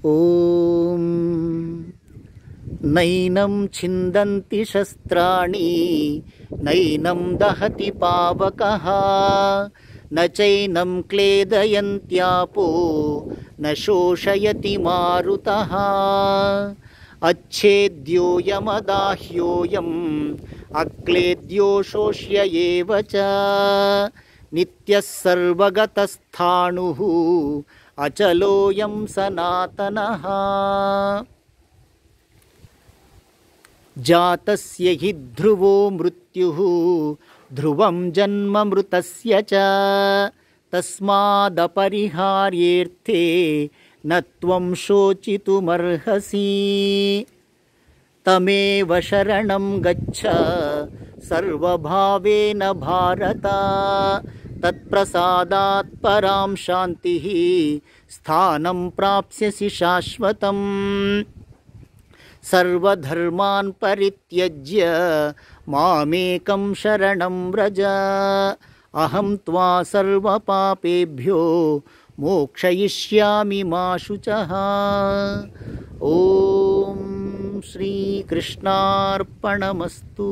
ॐ नैनं छिन्दन्ति शस्त्राणि नैनं दहति पावकः न चैनं क्लेदयन्त्यापो न शोषयति मारुतः अच्छेद्योऽयमदाह्योऽयम् अक्लेद्यो शोष्य एव च नित्यः सर्वगतस्थाणुः अचलोऽयं सनातनः जातस्य हि ध्रुवो मृत्युः ध्रुवं जन्म मृतस्य च तस्मादपरिहार्येऽर्थे न त्वं शोचितुमर्हसि तमेव शरणं गच्छ सर्वभावेन भारत तत्प्रसादात् परां शान्तिः स्थानं प्राप्स्यसि शाश्वतम् सर्वधर्मान् परित्यज्य मामेकं शरणं व्रज अहं त्वा सर्वपापेभ्यो मोक्षयिष्यामि मा शुचः। ॐ श्रीकृष्णार्पणमस्तु।